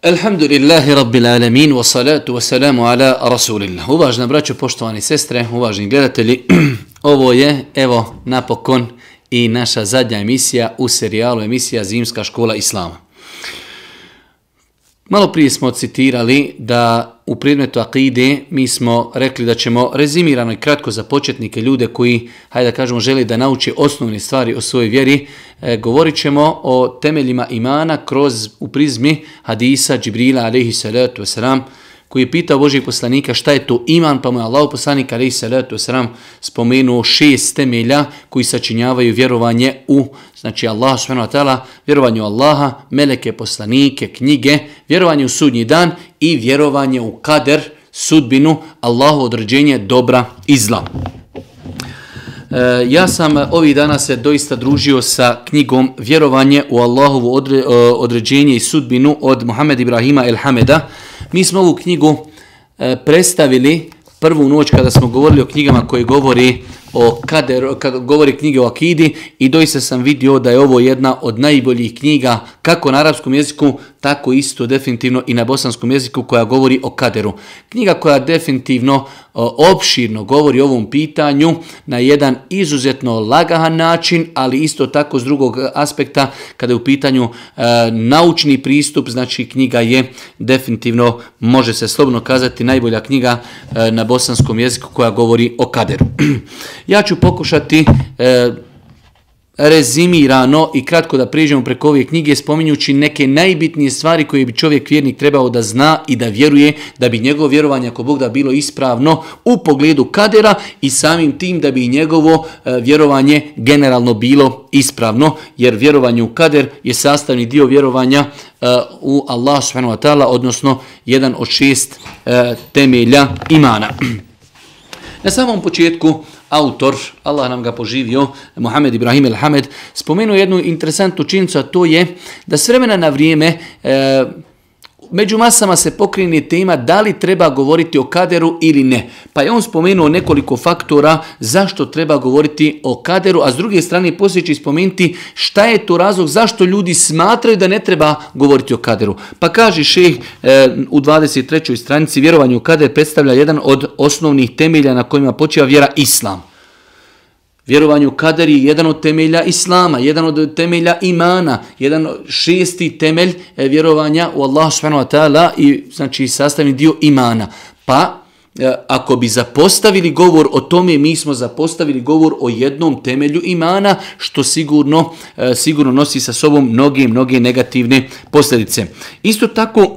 Alhamdulillahi rabbil alamin wa salatu wa salamu ala rasulillah. Uvažna braćo, poštovani sestre, uvažni gledatelji, ovo je evo napokon i naša zadnja emisija u serijalu emisija Zimska škola Islama. Malo prije smo citirali da u predmetu akide mi smo rekli da ćemo rezimirano i kratko za početnike, ljude koji, hajde da kažemo, žele da nauče osnovne stvari o svojoj vjeri. Govorit ćemo o temeljima imana u prizmi hadisa Džibrila alejhi salatu wasalam, koji je pitao Božijeg poslanika šta je to iman, pa mu je Allahov poslanik alejhi salatu wasalam spomenuo 6 temelja koji sačinjavaju vjerovanje u, znači Allah subhanahu wa ta'ala, vjerovanje u Allaha, meleke, poslanike, knjige, vjerovanje u sudnji dan i vjerovanje u kader, sudbinu, Allahu određenje dobra i zla. Ja sam ovih dana se doista družio sa knjigom Vjerovanje u Allahovu određenje i sudbinu od Muhammed Ibrahima el-Hameda. Mi smo ovu knjigu predstavili prvu noć kada smo govorili o knjigama koje govori o kaderu, kada govori knjige o akidi, i doista sam vidio da je ovo jedna od najboljih knjiga kako na arapskom jeziku, tako isto definitivno i na bosanskom jeziku, koja govori o kaderu. Knjiga koja definitivno opširno govori o ovom pitanju na jedan izuzetno lagahan način, ali isto tako s drugog aspekta kada je u pitanju naučni pristup, znači knjiga je definitivno, može se slobodno kazati, najbolja knjiga na bosanskom jeziku koja govori o kaderu. Ja ću pokušati rezimirano i kratko da prijeđemo preko ove knjige, spominjući neke najbitnije stvari koje bi čovjek vjernik trebao da zna i da vjeruje, da bi njegovo vjerovanje, ako Bog da, bilo ispravno u pogledu kadera i samim tim da bi njegovo vjerovanje generalno bilo ispravno, jer vjerovanje u kader je sastavni dio vjerovanja u Allah subhanahu wa ta'ala, odnosno jedan od 6 temelja imana. Na samom početku autor, Allah nam ga poživio, Muhammed Ibrahim el-Hamed, spomenuo jednu interesantnu činjenicu, a to je da s vremena na vrijeme među masama se pokrene tema da li treba govoriti o kaderu ili ne. Pa je on spomenuo nekoliko faktora zašto treba govoriti o kaderu, a s druge strane poslije će spomenuti šta je to razlog zašto ljudi smatraju da ne treba govoriti o kaderu. Pa kaže šejh u 23. stranici: vjerovanje u kader predstavlja jedan od osnovnih temelja na kojima počiva vjera Islam. Vjerovanje u kader je jedan od temelja Islama, jedan od temelja imana, jedan 6. temelj vjerovanja u Allah subhanahu wa ta'ala i znači sastavni dio imana. Pa ako bi zapostavili govor o tome, mi smo zapostavili govor o jednom temelju imana, što sigurno nosi sa sobom mnoge negativne posljedice. Isto tako,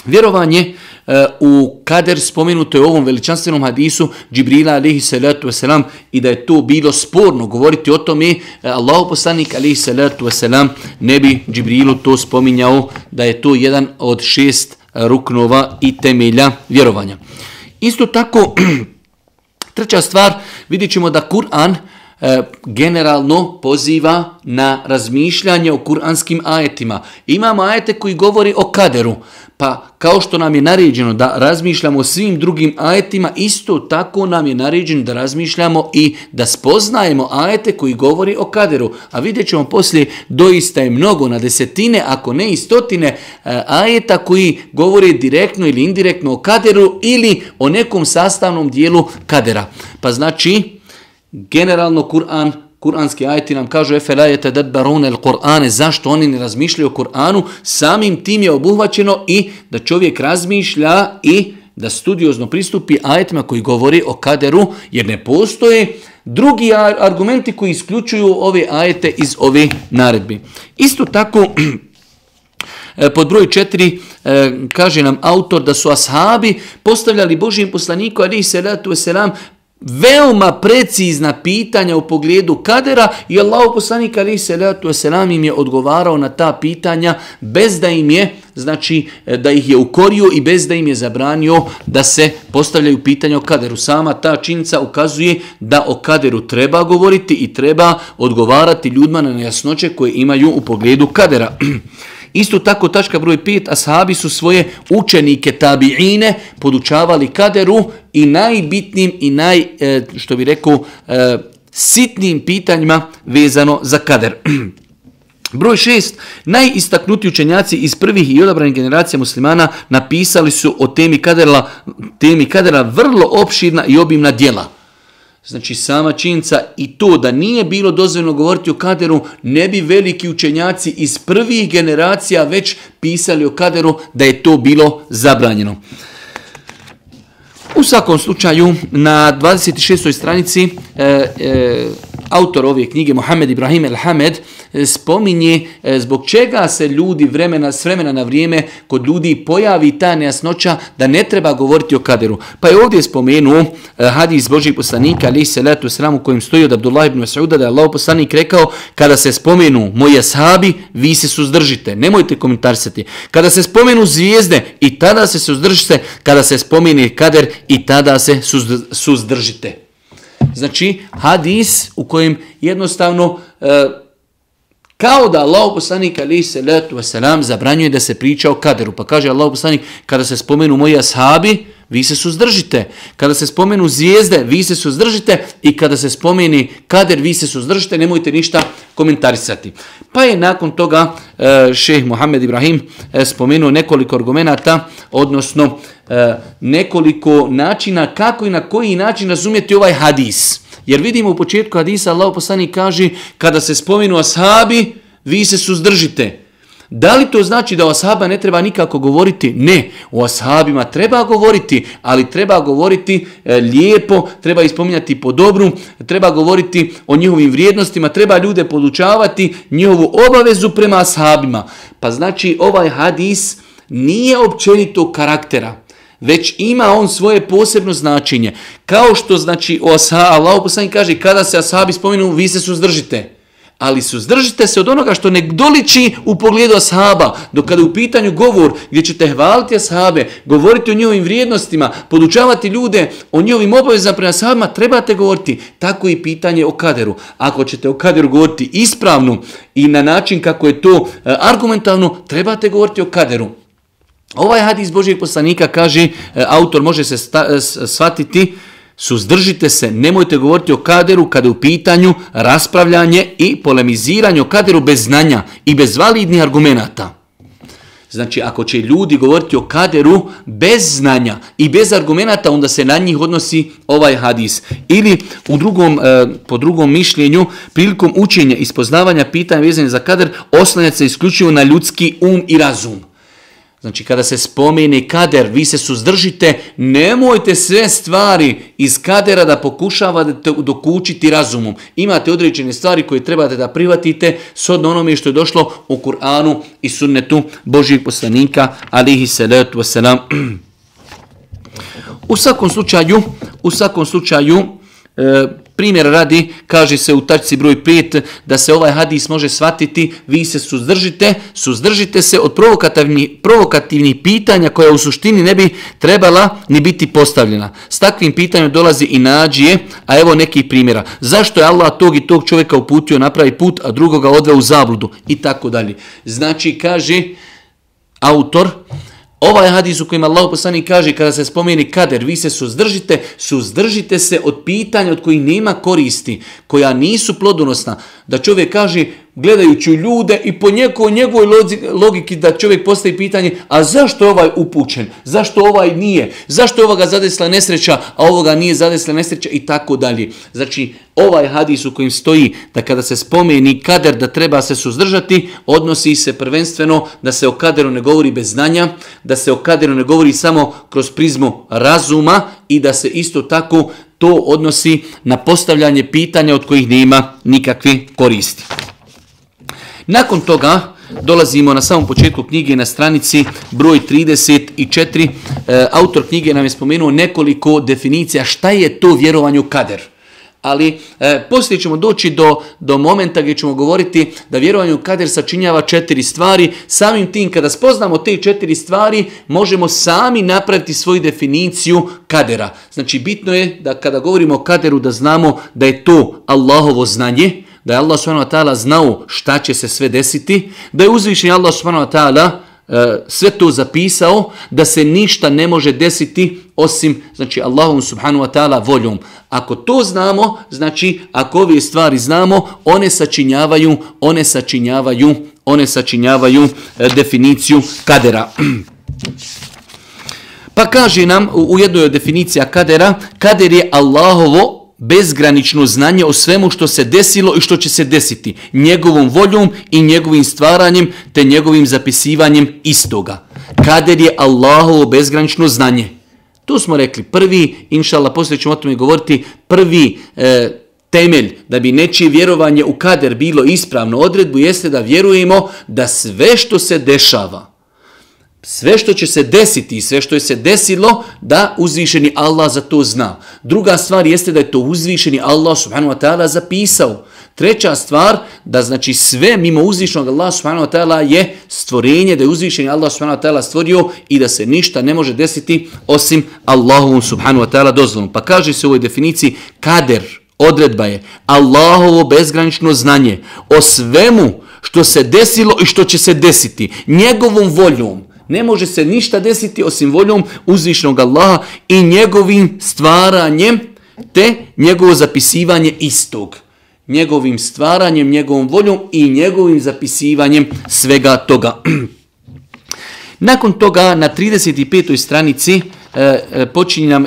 vjerovanje u kader spomenuto je u ovom veličanstvenom hadisu Džibrila alejhi salatu wasalam, i da je to bilo sporno govoriti o tome, Allahov poslanik alejhi salatu wasalam ne bi Džibrilu to spominjao, da je to jedan od 6 ruknova i temelja vjerovanja. Isto tako, treća stvar, vidjet ćemo da Kur'an generalno poziva na razmišljanje o kuranskim ajetima. Imamo ajete koji govori o kaderu, pa kao što nam je naređeno da razmišljamo o svim drugim ajetima, isto tako nam je naređeno da razmišljamo i da spoznajemo ajete koji govori o kaderu. A vidjet ćemo poslije, doista je mnogo, na desetine, ako ne i stotine ajeta koji govore direktno ili indirektno o kaderu ili o nekom sastavnom dijelu kadera. Pa znači, generalno kuranski ajeti nam kažu efela yetadabbaruna al-Qur'ane, zašto oni ne razmišljaju o Kur'anu, samim tim je obuhvaćeno i da čovjek razmišlja i da studiozno pristupi ajetima koji govori o kaderu, jer ne postoje drugi argumenti koji isključuju ove ajete iz ove naredbi. Isto tako, pod broj 4 kaže nam autor da su ashabi postavljali Božijem poslaniku alejhi salatu vesselam veoma precizna pitanja u pogledu kadera i Allahov poslanik alejhi salatu vesselam im je odgovarao na ta pitanja bez da im je, znači da ih je ukorio i bez da im je zabranio da se postavljaju pitanja o kaderu. Sama ta činjenica ukazuje da o kaderu treba govoriti i treba odgovarati ljudima na nejasnoće koje imaju u pogledu kadera. Isto tako, tačka broj 5, ashabi su svoje učenike tabiine podučavali kaderu i najbitnim i sitnim pitanjima vezano za kader. Broj 6. Najistaknutiji učenjaci iz prvih i odabranih generacija muslimana napisali su o temi kadera vrlo opširna i obimna djela. Znači sama činjenica i to da nije bilo dozvoljeno govoriti o kaderu, ne bi veliki učenjaci iz prvih generacija već pisali o kaderu da je to bilo zabranjeno. U svakom slučaju, na 26. stranici autor ove knjige, Mohamed Ibrahim El-Hamed, spominje zbog čega se ljudi s vremena na vrijeme kod ljudi pojavi ta nejasnoća da ne treba govoriti o kaderu. Pa je ovdje spomenuo hadis Božjeg poslanika, alejhi salatu vesselam, u kojem stoji od Abdullah ibn Mas'uda da je Allahov poslanik rekao: kada se spomenu moji ashabi, vi se suzdržite, nemojte komentarisati. Kada se spomenu zvijezde, i tada se suzdržite. Kada se spomene kader, i tada se suzdržite. Znači, hadis u kojem jednostavno kao da Allahov poslanik alejhi salatu vesselam zabranjuje da se priča o kaderu. Pa kaže Allahov poslanik: kada se spomenu moji ashabi, vi se suzdržite. Kada se spomenu zvijezde, vi se suzdržite. I kada se spomeni kader, vi se suzdržite. Nemojte ništa komentarisati. Pa je nakon toga šejh Mohamed Ibrahim spomenuo nekoliko argumenata, odnosno nekoliko načina kako i na koji način razumjeti ovaj hadis. Jer vidimo u početku hadisa Allahov poslanik kaže: kada se spomenu ashabi, vi se suzdržite. Da li to znači da o ashaba ne treba nikako govoriti? Ne, o ashabima treba govoriti, ali treba govoriti lijepo, treba ispominjati po dobru, treba govoriti o njihovim vrijednostima, treba ljude podučavati njihovu obavezu prema ashabima. Pa znači ovaj hadis nije općenitog karaktera, već ima on svoje posebno značenje. Kao što znači o ashabi, Allahov poslanik kaže: kada se ashabi spomenu, vi se suzdržite. Ali suzdržite se od onoga što ne doliči u pogledu ashaba. Dok kada je u pitanju govor gdje ćete hvaliti ashabe, govoriti o njihovim vrijednostima, podučavati ljude o njihovim obavezama prema ashabima, trebate govoriti. Tako i pitanje o kaderu. Ako ćete o kaderu govoriti ispravno i na način kako je to argumentalno, trebate govoriti o kaderu. Ovaj hadis Božjeg poslanika, kaže autor, može se shvatiti: suzdržite se, nemojte govoriti o kaderu kada je u pitanju raspravljanje i polemiziranje o kaderu bez znanja i bez validnih argumenata. Znači, ako će ljudi govoriti o kaderu bez znanja i bez argumenata, onda se na njih odnosi ovaj hadis. Ili po drugom mišljenju, prilikom učenja i spoznavanja pitanja vezane za kader, oslanjati se isključivo na ljudski um i razum. Znači, kada se spomene kader, vi se suzdržite, nemojte sve stvari iz kadera da pokušavate dokučiti razumom. Imate određene stvari koje trebate da prihvatite shodno onome što je došlo u Kur'anu i sunnetu Božjeg poslanika, alejhi salatu vesselam. U svakom slučaju, primjer radi, kaže se u tačci broj 5 da se ovaj hadis može shvatiti: vi se suzdržite se od provokativnih pitanja koja u suštini ne bi trebala ni biti postavljena. S takvim pitanjem dolazi i nađije, a evo nekih primjera. Zašto je Allah tog i tog čovjeka uputio na pravi put, a drugoga odveo u zabludu? I tako dalje. Znači, kaže autor, ovaj hadis u kojem Allahov poslanik kaže: kada se spomeni kader, vi se suzdržite se od pitanja od kojih nema koristi, koja nisu plodonosna. Da čovjek kaže, gledajući ljude i po njegovoj logiki, da čovjek postavi pitanje: a zašto je ovaj upućen? Zašto ovaj nije? Zašto je ovoga zadesila nesreća, a ovoga nije zadesila nesreća? I tako dalje. Znači, ovaj hadis u kojem stoji da kada se spomeni kader da treba se suzdržati, odnosi se prvenstveno da se o kaderu ne govori bez znanja, da se o kaderu ne govori samo kroz prizmu razuma i da se isto tako to odnosi na postavljanje pitanja od kojih nema nikakve koristi. Nakon toga dolazimo na samom početku knjige na stranici broj 34. Autor knjige nam je spomenuo nekoliko definicija šta je to vjerovanje u kader. Ali poslije ćemo doći do momenta gdje ćemo govoriti da vjerovanje u kader sačinjava 4 stvari. Samim tim, kada spoznamo te 4 stvari, možemo sami napraviti svoju definiciju kadera. Znači, bitno je da kada govorimo o kaderu da znamo da je to Allahovo znanje, da je Allah subhanahu wa ta'ala znao šta će se sve desiti, da je uzvišeni Allah subhanahu wa ta'ala sve to zapisao, da se ništa ne može desiti osim znači Allahom subhanahu wa ta'ala voljom. Ako to znamo, znači ako ove stvari znamo, one sačinjavaju definiciju kadera. Pa kaže nam u jednoj od definicija kadera, kader je Allahovo bezgranično znanje o svemu što se desilo i što će se desiti, njegovom voljom i njegovim stvaranjem te njegovim zapisivanjem istoga. Kader je Allahovo bezgranično znanje. Tu smo rekli prvi, inšallah, poslije ćemo o tome govoriti, prvi temelj da bi nečije vjerovanje u kader bilo ispravno odredbu jeste da vjerujemo da sve što se dešava, sve što će se desiti i sve što je se desilo, da uzvišeni Allah za to zna. Druga stvar jeste da je to uzvišeni Allah subhanahu wa ta'ala zapisao. Treća stvar, da znači sve mimo uzvišenog Allah subhanahu wa ta'ala je stvorenje, da je uzvišeni Allah subhanahu wa ta'ala stvorio i da se ništa ne može desiti osim Allahovom subhanahu wa ta'ala dozvolom. Pa kaže se u ovoj definiciji, kader, odredba je Allahovo bezgranično znanje o svemu što se desilo i što će se desiti, njegovom voljom. Ne može se ništa desiti osim voljom uzvišenog Allaha i njegovim stvaranjem te njegovo zapisivanje istog. Njegovim stvaranjem, njegovom voljom i njegovim zapisivanjem svega toga. Nakon toga na 35. stranici počinje nam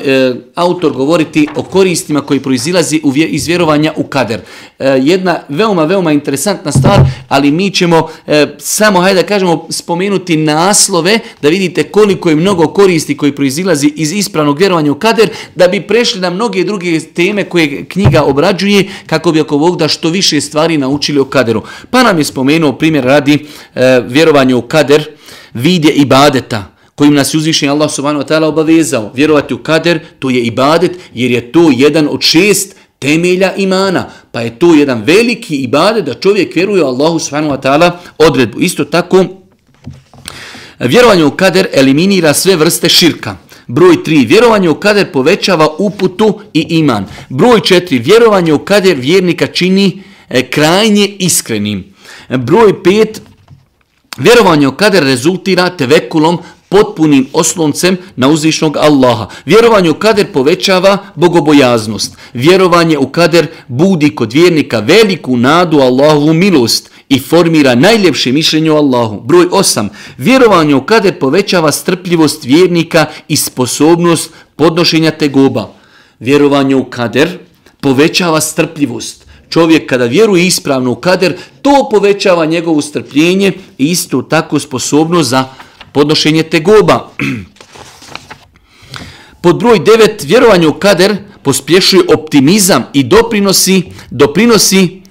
autor govoriti o koristima koji proizilazi iz vjerovanja u kader. Jedna veoma interesantna stvar, ali mi ćemo samo, hajde da kažemo, spomenuti naslove da vidite koliko je mnogo koristi koji proizilazi iz ispravnog vjerovanja u kader, da bi prešli na mnoge druge teme koje knjiga obrađuje, kako bi ako Bog da što više stvari naučili o kaderu. Pa nam je spomenuo primjer radi vjerovanje u kader, vidje ibadeta, kojim nas je uzvišeni Allah subhanahu wa ta'ala obavezao. Vjerovati u kader, to je ibadet, jer je to jedan od 6 temelja imana. Pa je to jedan veliki ibadet da čovjek vjeruje u Allahu subhanahu wa ta'ala odredbu. Isto tako, vjerovanje u kader eliminira sve vrste širka. Broj 3. Vjerovanje u kader povećava uputu i iman. Broj 4. Vjerovanje u kader vjernika čini krajnje iskrenim. Broj 5. Vjerovanje u kader rezultira tevekulom, potpunim osloncem na uzvišnog Allaha. Vjerovanje u kader povećava bogobojaznost. Vjerovanje u kader budi kod vjernika veliku nadu Allahovu milost i formira najljepše mišljenje o Allahu. Broj 8. Vjerovanje u kader povećava strpljivost vjernika i sposobnost podnošenja tegoba. Vjerovanje u kader povećava strpljivost. Čovjek kada vjeruje ispravno u kader, to povećava njegovo strpljenje i isto tako sposobnost za podnošenje tegoba. Pod broj 9, vjerovanje u kader pospješuje optimizam i doprinosi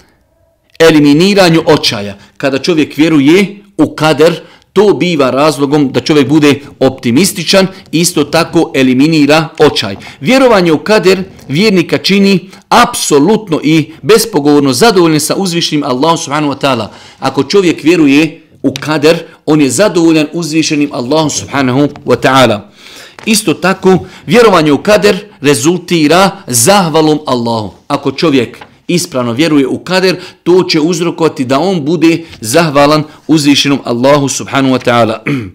eliminiranju očaja. Kada čovjek vjeruje u kader, to biva razlogom da čovjek bude optimističan i isto tako eliminira očaj. Vjerovanje u kader vjernika čini apsolutno i bespogovorno zadovoljnim sa uzvišenim Allahom subhanahu wa ta'ala. Ako čovjek vjeruje u kader, on je zadovoljan uzvišenim Allahom subhanahu wa ta'ala. Isto tako, vjerovanje u kader rezultira zahvalom Allahu. Ako čovjek ispravno vjeruje u kader, to će uzrokovati da on bude zahvalan uzvišenom Allahu subhanahu wa ta'ala.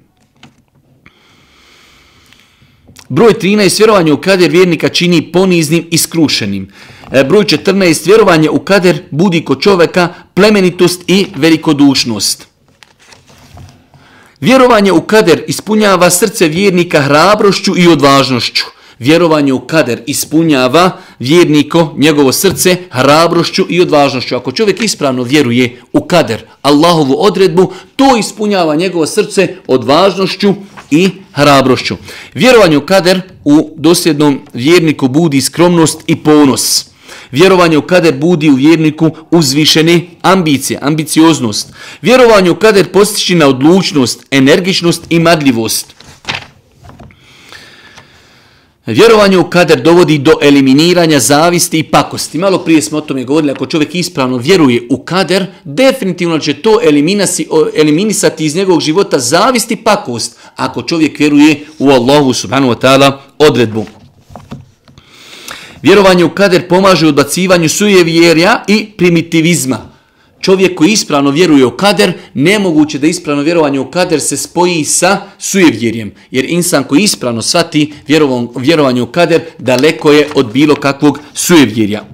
Broj 13. Vjerovanje u kader vjernika čini poniznim i skrušenim. Broj 14. Vjerovanje u kader budi kod čovjeka plemenitost i velikodušnost. Vjerovanje u kader ispunjava srce vjernika hrabrošću i odvažnošću. Vjerovanje u kader ispunjava vjerniko, njegovo srce, hrabrošću i odvažnošću. Ako čovjek ispravno vjeruje u kader, Allahovu odredbu, to ispunjava njegovo srce odvažnošću i hrabrošću. Vjerovanje u kader u dosljednom vjerniku budi skromnost i ponos. Vjerovanje u kader budi u vjerniku uzvišene ambicije, ambicioznost. Vjerovanje u kader postiče na odlučnost, energičnost i marljivost. Vjerovanje u kader dovodi do eliminiranja zavisti i pakosti. Malo prije smo o tome govorili, ako čovjek ispravno vjeruje u kader, definitivno će to eliminisati iz njegovog života zavist i pakost, ako čovjek vjeruje u Allahu subhanahu wa ta'ala odredbu. Vjerovanje u kader pomaže u odbacivanju sujevjerja i primitivizma. čovjek koji ispravno vjeruje u kader, nemoguće da ispravno vjerovanje u kader se spoji sa sujevjerjem. Jer insan koji ispravno shvati vjerovanje u kader, daleko je od bilo kakvog sujevjerja.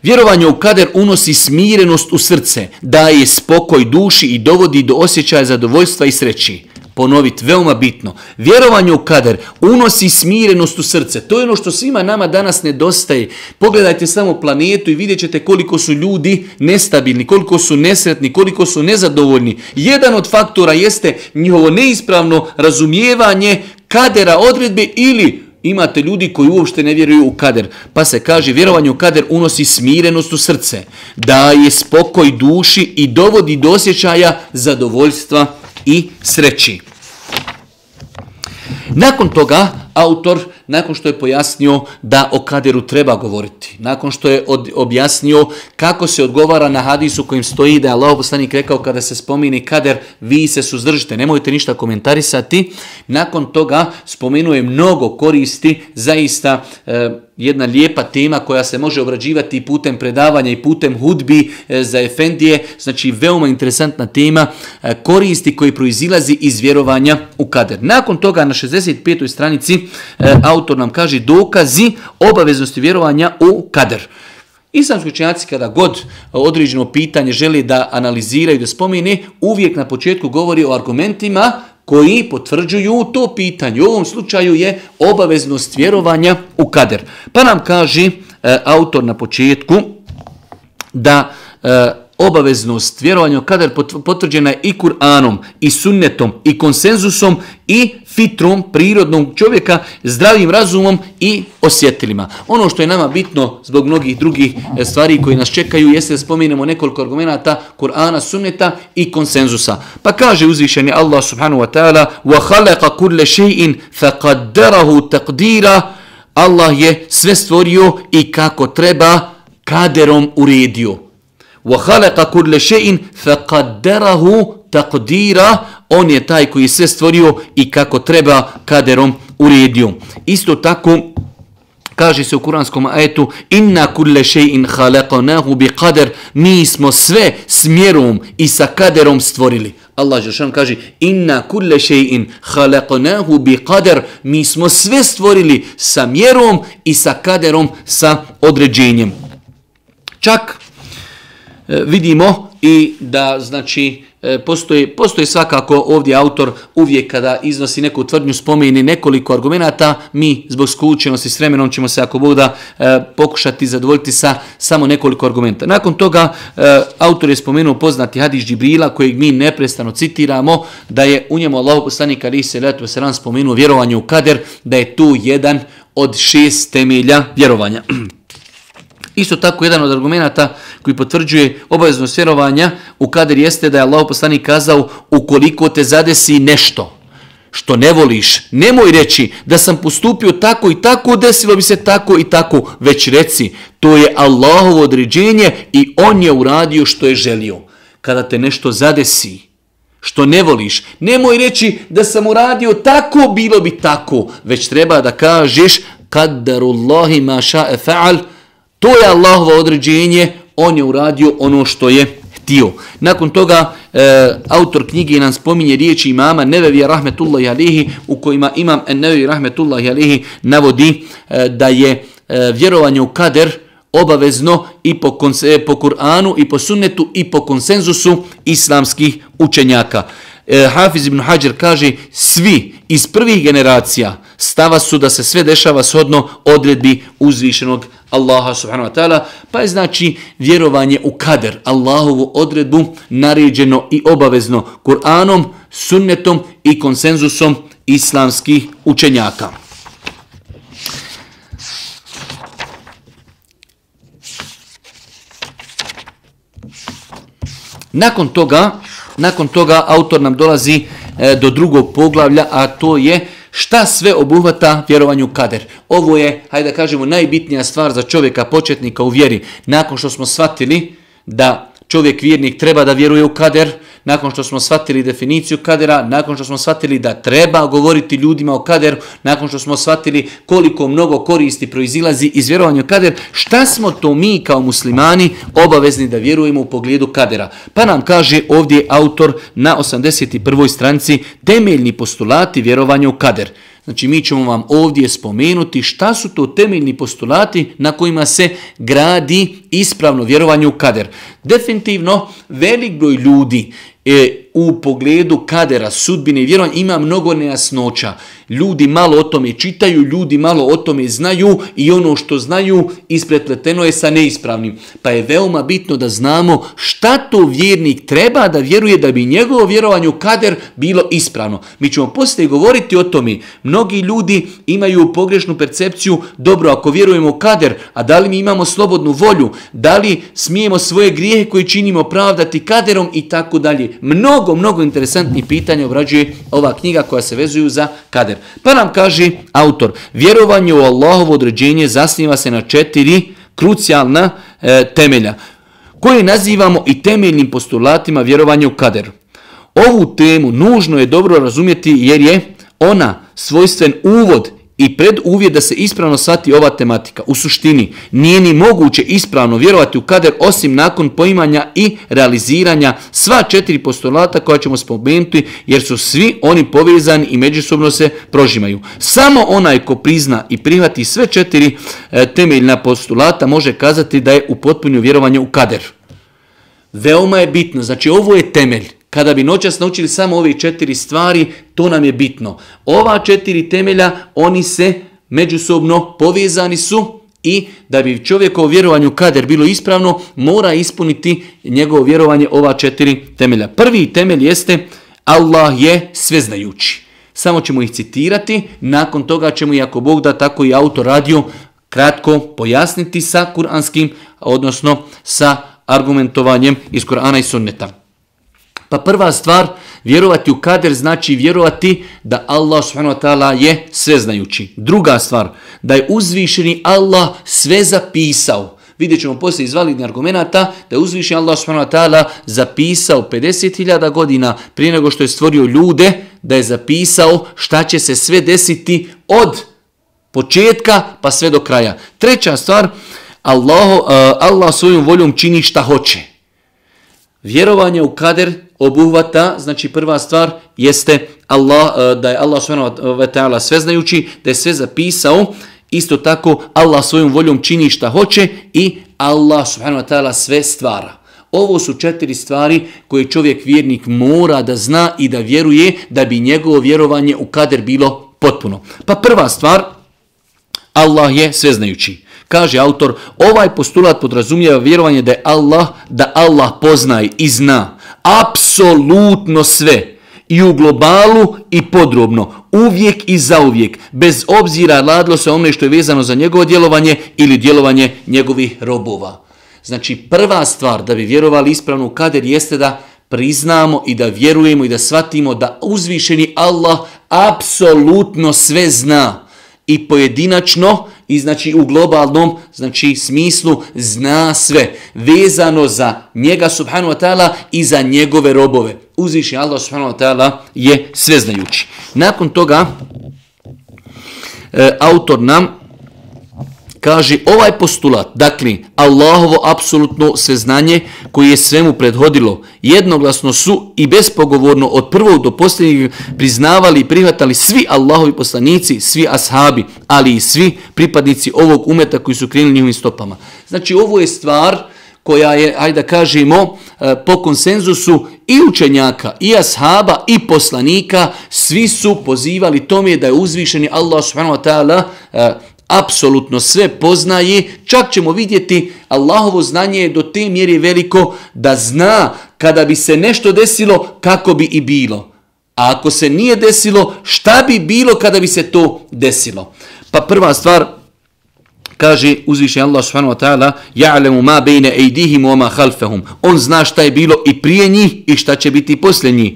Vjerovanje u kader unosi smirenost u srce, daje spokoj duši i dovodi do osjećaja zadovoljstva i sreći. Ponoviti, veoma bitno. Vjerovanje u kader unosi smirenost u srce. To je ono što svima nama danas nedostaje. Pogledajte samo planetu i vidjet ćete koliko su ljudi nestabilni, koliko su nesretni, koliko su nezadovoljni. Jedan od faktora jeste njihovo neispravno razumijevanje kadera, odredbe, ili imate ljudi koji uopšte ne vjeruju u kader. Pa se kaže, vjerovanje u kader unosi smirenost u srce, daje spokoj duši i dovodi do osjećaja zadovoljstva i sreći. Nakon toga, autor, nakon što je pojasnio da o kaderu treba govoriti, nakon što je objasnio kako se odgovara na hadisu kojim stoji da je Allahov poslanik rekao kada se spomini kader, vi se suzdržite, nemojte ništa komentarisati. Nakon toga spomenuo je mnogo koristi, zaista jedna lijepa tema koja se može obrađivati putem predavanja i putem hudbi za efendije, znači veoma interesantna tema, koristi koji proizilazi iz vjerovanja u kader. Nakon toga na 65. stranici autor nam kaže dokazi obaveznosti vjerovanja u kader. Islamski učenjaci kada god određeno pitanje žele da analiziraju, da spomene, uvijek na početku govori o argumentima koji potvrđuju to pitanje. U ovom slučaju je obaveznost vjerovanja u kader. Pa nam kaže autor na početku da obaveznost vjerovanja u kader potvrđena je i Kur'anom, i sunnetom, i konsenzusom, i fitrom prirodnog čovjeka, zdravim razumom i osjetilima. Ono što je nama bitno zbog mnogih drugih stvari koji nas čekaju jeste da spomenemo nekoliko argumenata Kur'ana, sunneta i konsenzusa. Pa kaže uzvišeni Allah subhanahu wa ta'ala وَخَلَقَ كُلَّ شَيْءٍ فَقَدَّرَهُ تَقْدِيرًا. Allah je sve stvorio i kako treba kaderom uredio. وَخَلَقَ كُلَّ شَيْءٍ فَقَدَّرَهُ تَقْدِيرًا. On je taj koji je sve stvorio i kako treba kaderom uredio. Isto tako kaže se u kuranskom ajetu inna kulle shay'in khalaqnahu biqadar. Mi smo sve s mjerom i sa kaderom stvorili. Allah dželle kaže inna kulle shay'in khalaqnahu biqadar. Mi smo sve stvorili sa mjerom i sa kaderom, sa određenjem. Čak vidimo i da znači postoji svakako ovdje autor uvijek kada iznosi neku tvrdnju spomeni nekoliko argumenata, mi zbog skučenosti s vremenom ćemo se ako Bog da pokušati zadovoljiti sa samo nekoliko argumenta. Nakon toga autor je spomenuo poznati hadis Džibrila kojeg mi neprestano citiramo, da je u njemu Allahov poslanik alejhi selatu vesselam spomenuo vjerovanje u kader, da je tu jedan od 6 temelja vjerovanja. Isto tako jedan od argumenata koji potvrđuje obaveznost vjerovanja u kader jeste da je Allahov poslanik kazao ukoliko te zadesi nešto što ne voliš, nemoj reći da sam postupio tako i tako, desilo bi se tako i tako, već reci to je Allahovo određenje i on je uradio što je želio. Kada te nešto zadesi što ne voliš, nemoj reći da sam uradio tako, bilo bi tako, već treba da kažeš kaddarullahi ma ša'e fa'al. To je Allahovo određenje, on je uradio ono što je htio. Nakon toga autor knjige nam spominje riječi imama Nevevija rahmetullahi alihi, u kojima imam Nevevi rahmetullahi alihi navodi da je vjerovanje u kader obavezno i po Kur'anu i po sunnetu i po konsenzusu islamskih učenjaka. Hafiz ibn Hajar kaže svi iz prvih generacija stava su da se sve dešava shodno odredbi uzvišenog Allaha subhanahu wa ta'ala, pa je znači vjerovanje u kader, Allahovu odredbu, naređeno i obavezno Kur'anom, sunnetom i konsenzusom islamskih učenjaka. Nakon toga autor nam dolazi do drugog poglavlja, a to je šta sve obuhvata vjerovanje u kader. Ovo je, hajde da kažemo, najbitnija stvar za čovjeka početnika u vjeri. Nakon što smo shvatili da čovjek vjernik treba da vjeruje u kader, nakon što smo shvatili definiciju kadera, nakon što smo shvatili da treba govoriti ljudima o kaderu, nakon što smo shvatili koliko mnogo koristi proizilazi iz vjerovanja u kader, šta smo to mi kao muslimani obavezni da vjerujemo u pogledu kadera? Pa nam kaže ovdje autor na 81. stranici temeljni postulati vjerovanja u kader. Znači mi ćemo vam ovdje spomenuti šta su to temeljni postulati na kojima se gradi ispravno vjerovanje u kader. Definitivno velik broj ljudi u pogledu kadera, sudbine i vjerovanja ima mnogo nejasnoća. Ljudi malo o tome čitaju, ljudi malo o tome znaju i ono što znaju isprepleteno je sa neispravnim. Pa je veoma bitno da znamo šta to vjernik treba da vjeruje da bi njegovo vjerovanje u kader bilo ispravno. Mi ćemo poslije govoriti o tome. Mnogi ljudi imaju pogrešnu percepciju, dobro ako vjerujemo u kader, a da li mi imamo slobodnu volju, da li smijemo svoje grijehe koje činimo pravdati kaderom i tako dalje. Mnogo interesantnih pitanja obrađuje ova knjiga koja se vezuju za kader. Pa nam kaže autor, vjerovanje u Allahovo određenje zasniva se na 4 krucijalna temelja, koje nazivamo i temeljnim postulatima vjerovanja u kader. Ovu temu nužno je dobro razumjeti jer je ona svojstven uvod i preduvjet da se ispravno shvati ova tematika. U suštini nije ni moguće ispravno vjerovati u kader osim nakon poimanja i realiziranja sva 4 postulata koja ćemo spomenuti jer su svi oni povezani i međusobno se prožimaju. Samo onaj ko prizna i prihvati sve 4 temeljna postulata može kazati da je upotpunio vjerovanje u kader. Veoma je bitno, znači ovo je temelj. Kada bi noćas naučili samo ove 4 stvari, to nam je bitno. Ova 4 temelja, oni se međusobno povezani su i da bi čovjekovo vjerovanje u kader bilo ispravno, mora ispuniti njegovo vjerovanje ova 4 temelja. Prvi temelj jeste Allah je sveznajući. Samo ćemo ih citirati, nakon toga ćemo, i ako Bog da, tako i autor radio, kratko pojasniti sa kuranskim, odnosno sa argumentovanjem iz Kur'ana i Sunneta. Pa prva stvar, vjerovati u kader znači vjerovati da Allah subhanahu wa ta'ala je sveznajući. Druga stvar, da je uzvišeni Allah sve zapisao. Vidjet ćemo poslije iz validnih argumenata da je uzvišeni Allah subhanahu wa ta'ala zapisao 50.000 godina prije nego što je stvorio ljude, da je zapisao šta će se sve desiti od početka pa sve do kraja. Treća stvar, Allah svojom voljom čini šta hoće. Vjerovanje u kader obuhvata, znači prva stvar jeste da je Allah subhanahu wa ta'ala sveznajući, da je sve zapisao, isto tako Allah svojom voljom čini šta hoće i Allah subhanahu wa ta'ala sve stvara. Ovo su 4 stvari koje čovjek vjernik mora da zna i da vjeruje da bi njegovo vjerovanje u kader bilo potpuno. Pa prva stvar, Allah je sveznajući. Kaže autor, ovaj postulat podrazumijeva vjerovanje da Allah poznaje i zna apsolutno sve i u globalu i podrobno, uvijek i zauvijek, bez obzira radilo se o onome što je vezano za njegovo djelovanje ili djelovanje njegovih robova. Znači prva stvar da bi vjerovali ispravno u kader jeste da priznamo i da vjerujemo i da shvatimo da uzvišeni Allah apsolutno sve zna i pojedinačno i znači u globalnom smislu zna sve vezano za njega subhanahu wa ta'ala i za njegove robove. Uzvišeni Allah subhanahu wa ta'ala je sveznajući. Nakon toga autor nam kaže ovaj postulat, dakle Allahovo apsolutno sveznanje koje je svemu prethodilo, jednoglasno su i bespogovorno od prvog do posljednjeg priznavali i prihvatali svi Allahovi poslanici, svi ashabi, ali i svi pripadnici ovog umeta koji su krenuli njihovim stopama. Znači ovo je stvar koja je, ajde da kažemo, po konsenzusu i učenjaka, i ashaba, i poslanika, svi su pozivali tome da je uzvišeni Allah subhanahu wa ta'ala apsolutno sve poznaje. Čak ćemo vidjeti Allahovo znanje je do te mjere veliko da zna kada bi se nešto desilo kako bi i bilo. A ako se nije desilo, šta bi bilo kada bi se to desilo? Pa prva stvar, kaže uzvišeni Allah subhanahu wa ta'ala, ja'lemu ma bejne ejdihim wa ma khalfahum. On zna šta je bilo i prije njih i šta će biti poslije njih.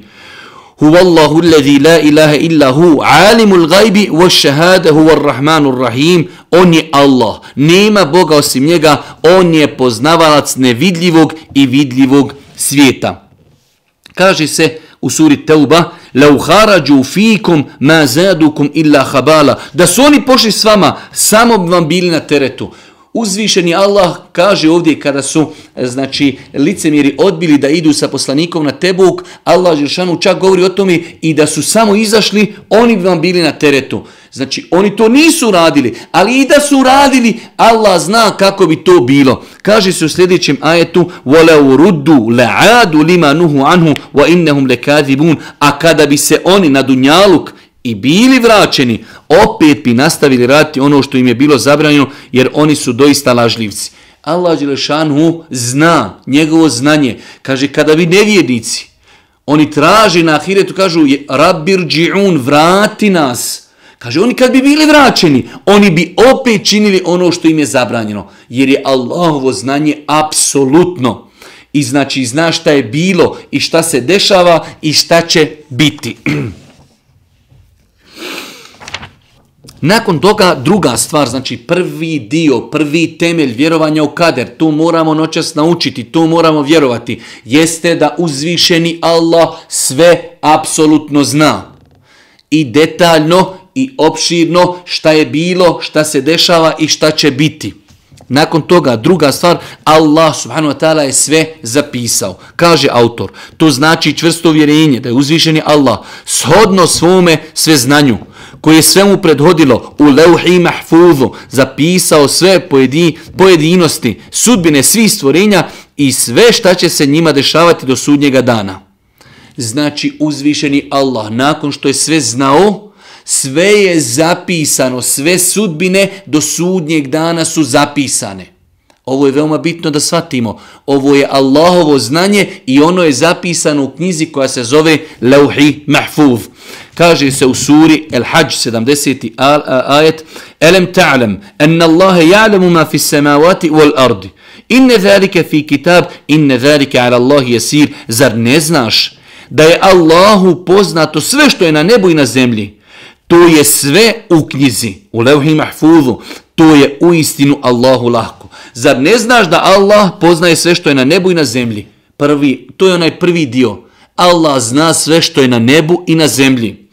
Huvallahu alladhi la ilaha illa hu, alimul gajbi wa shahada huwa rahmanur rahim. On je Allah, nema Boga osim njega, on je poznavalac nevidljivog i vidljivog svijeta. Kaže se u suri Teuba: "Lau kharaju fikum ma zadukum illa khabala." Da su oni pošli s vama, samo bi vam bili na teretu. Uzvišeni Allah kaže ovdje kada su licemjeri odbili da idu sa poslanikom na Tebuk, Allah dželešanu čak govori o tome i da su samo izašli, oni bi vam bili na teretu. Znači oni to nisu radili, ali i da su radili, Allah zna kako bi to bilo. Kaže se u sljedećem ajetu: "Walau ruddu la'adu lima nuhu anhu wa innahum lakazibun." A kada bi se oni na dunjaluk i bili vraćeni, opet bi nastavili raditi ono što im je bilo zabranjeno, jer oni su doista lažljivci. Allah dželešanu zna, njegovo znanje. Kaže, kada bi nevjernici, oni traži na ahiretu, kažu: "Rabbirđi'un, vrati nas." Kaže, oni kad bi bili vraćeni, oni bi opet činili ono što im je zabranjeno, jer je Allahovo znanje apsolutno. I znači zna šta je bilo i šta se dešava i šta će biti. Nakon toga druga stvar, znači prvi dio, prvi temelj vjerovanja u kader, tu moramo noćas naučiti, tu moramo vjerovati, jeste da uzvišeni Allah sve apsolutno zna. I detaljno i opširno šta je bilo, šta se dešava i šta će biti. Nakon toga druga stvar, Allah subhanahu wa ta'ala je sve zapisao. Kaže autor, to znači čvrsto vjerenje da je uzvišeni Allah shodno svome sveznanju, koje je svemu prethodilo u leuhi mahfuzu, zapisao sve pojedinosti, sudbine svih stvorenja i sve šta će se njima dešavati do sudnjega dana. Znači uzvišeni Allah nakon što je sve znao, sve je zapisano, sve sudbine do sudnjeg dana su zapisane. Ovo je veoma bitno da shvatimo. Ovo je Allahovo znanje i ono je zapisano u knjizi koja se zove Leuhi Mahfuz. Kaže se u suri El-Hajj 70. ajet: "Elem ta'lam anna Allaha ya'lamu ma fis samawati wal ardi. Inna zalika fi kitab, inna zalika 'ala Allahi yasir." Zar ne znaš da je Allahu poznato sve što je na nebu i na zemlji? To je sve u knjizi, u Leuhi Mahfuzu. To je uistinu Allahu lahko. Zar ne znaš da Allah poznaje sve što je na nebu i na zemlji? To je onaj prvi dio. Allah zna sve što je na nebu i na zemlji.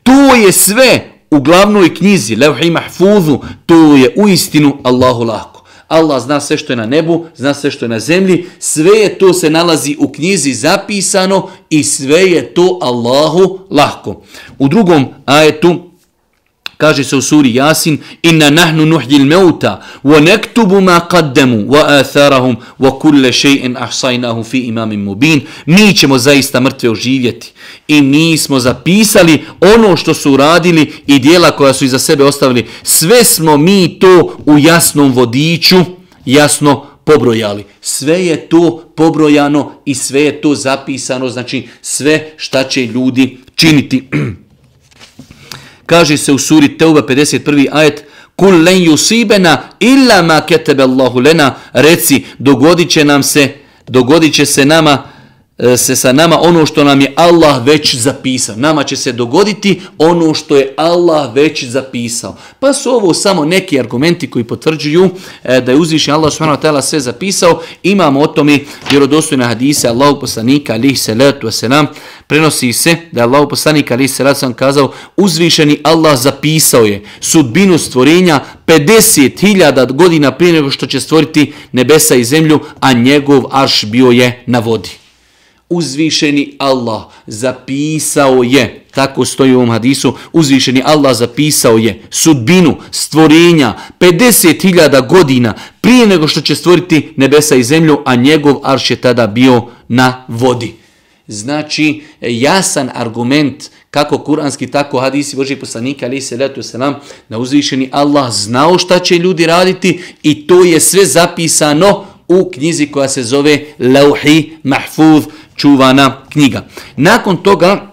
To je sve u glavnoj knjizi, Leuhi Mahfuzu. To je uistinu Allahu lahko. Allah zna sve što je na nebu, zna sve što je na zemlji. Sve je to se nalazi u knjizi zapisano i sve je to Allahu lahko. U drugom ajetu kaže se u suri Jasin: "Inna nahnu nuhyil mauta wa naktubu ma qaddamu wa atharahum wa kulla shay'in ahsaynahu fi imamin mubin." Mi ćemo zaista mrtve oživjeti i mi smo zapisali ono što su uradili i djela koja su iza sebe ostavili. Sve smo mi to u jasnom vodiču jasno pobrojali. Sve je to pobrojano i sve je to zapisano, znači sve šta će ljudi činiti. Kaže se u suri Teuba 51. ajet: "Kul len yusibena illa ma kataba Allahu lana." Reci, dogodit će se sa nama ono što nam je Allah već zapisao. Nama će se dogoditi ono što je Allah već zapisao. Pa su ovo samo neki argumenti koji potvrđuju da je uzvišen Allah subhanahu wa ta'ala sve zapisao. Imamo o tome vjerodostojne hadise Allahov poslanika alejhi salatu vesselam. Prenosi se da je Allahov poslanik alejhi salatu vesselam kazao: "Uzvišeni Allah zapisao je sudbinu stvorenja 50.000 godina prije nego što će stvoriti nebesa i zemlju, a njegov arš bio je na vodi." Uzvišeni Allah zapisao je, tako stoji u ovom hadisu, uzvišeni Allah zapisao je sudbinu stvorenja 50.000 godina prije nego što će stvoriti nebesa i zemlju, a njegov arš je tada bio na vodi. Znači, jasan argument kako kuranski, tako hadisi Božih poslanika alejhi salatu vesselam, da uzvišeni Allah znao šta će ljudi raditi i to je sve zapisano u knjizi koja se zove Leuhi Mahfuz, čuvana knjiga. Nakon toga,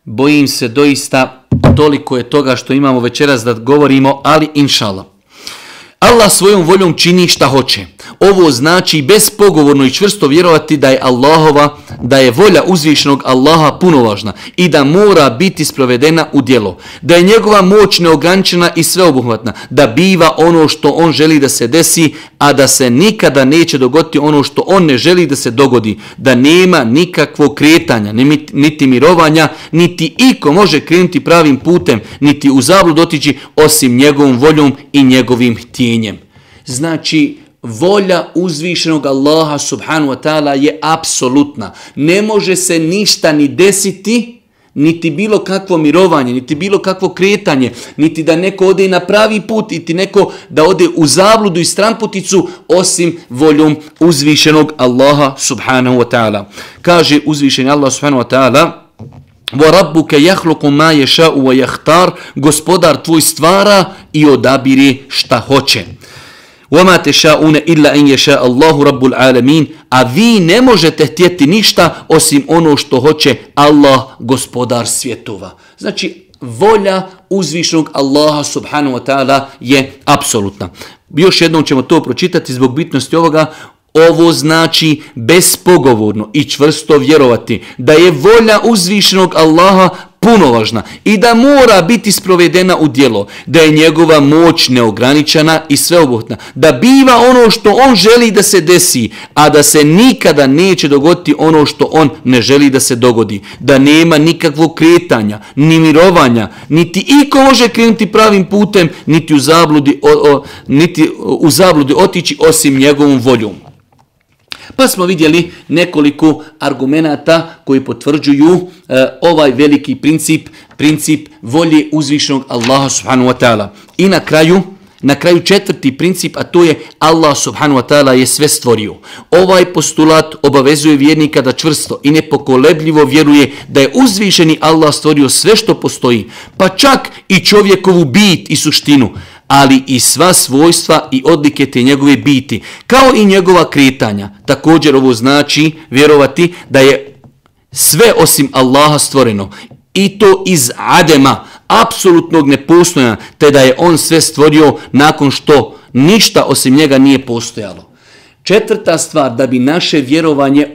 bojim se doista, toliko je toga što imamo večeras da govorimo, ali inšallah. Allah svojom voljom čini šta hoće. ovo znači bespogovorno i čvrsto vjerovati da je volja uzvišenog Allaha punovažna i da mora biti sprovedena u djelo, da je njegova moć neograničena i sveobuhvatna, da biva ono što on želi da se desi, a da se nikada neće dogoditi ono što on ne želi da se dogodi, da nema nikakvog kretanja, niti mirovanja, niti iko može krenuti pravim putem, niti u zablud otići osim njegovom voljom i njegovim htjenjem. Znači, volja uzvišenog Allaha subhanahu wa ta'ala je apsolutna. Ne može se ništa ni desiti, niti bilo kakvo mirovanje, niti bilo kakvo kretanje, niti da neko ode na pravi put, niti neko da ode u zabludu i stranputicu, osim voljom uzvišenog Allaha subhanahu wa ta'ala. Kaže uzvišeni Allah subhanahu wa ta'ala: وَرَبُّكَ يَخْلُقُ مَا يَشَاءُ وَيَخْتَارُ, gospodar tvoj stvara i odabire šta hoće. وَمَا تَشَاءُونَ إِلَّا أَنْ يَشَاءَ اللَّهُ رَبُّ الْعَالَمِينَ, a vi ne možete htjeti ništa osim ono što hoće Allah, gospodar svjetova. Znači, volja uzvišenog Allaha subhanahu wa ta'ala je apsolutna. Još jednom ćemo to pročitati zbog bitnosti ovoga. Ovo znači bespogovorno i čvrsto vjerovati da je volja uzvišenog Allaha punovažna i da mora biti sprovedena u djelo, da je njegova moć neograničena i sveobuhvatna, da biva ono što on želi da se desi, a da se nikada neće dogoditi ono što on ne želi da se dogodi, da nema nikakvog kretanja, ni mirovanja, niti iko može krenuti pravim putem, niti u zabludi otići osim njegovom voljom. Pa smo vidjeli nekoliko argumenata koji potvrđuju ovaj veliki princip volje uzvišenog Allaha subhanahu wa ta'ala. I na kraju četvrti princip, a to je Allah subhanahu wa ta'ala je sve stvorio. Ovaj postulat obavezuje vjernika da čvrsto i nepokolebljivo vjeruje da je uzvišeni Allah stvorio sve što postoji, pa čak i čovjekovu bit i suštinu, ali i sva svojstva i odlike te njegove biti, kao i njegova kretanja. Također ovo znači vjerovati da je sve osim Allaha stvoreno, i to iz adema, apsolutnog nepostojanja, te da je on sve stvorio nakon što ništa osim njega nije postojalo. Četvrta stvar, da bi naše vjerovanje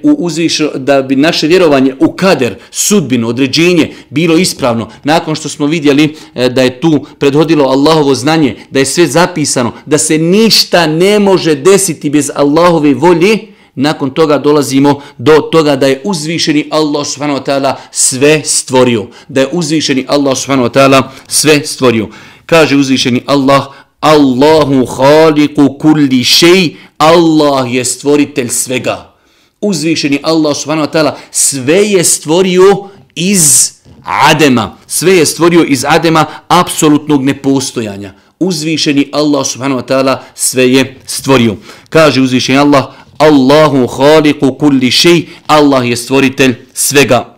u kader, sudbinu, određenje bilo ispravno, nakon što smo vidjeli da je tu prethodilo Allahovo znanje, da je sve zapisano, da se ništa ne može desiti bez Allahove volje, nakon toga dolazimo do toga da je uzvišeni Allah subhanahu wa ta'ala sve stvorio. Da je uzvišeni Allah subhanahu wa ta'ala sve stvorio. Kaže uzvišeni Allah: Allahu khaliqu kulli shay, Allah je stvoritelj svega. Uzvišeni Allah subhanahu wa ta'ala sve je stvorio iz adema. Sve je stvorio iz adema, apsolutnog nepostojanja. Uzvišeni Allah subhanahu wa ta'ala sve je stvorio. Kaže uzvišeni Allah: Allahu khaliqu kulli shay, Allah je stvoritelj svega.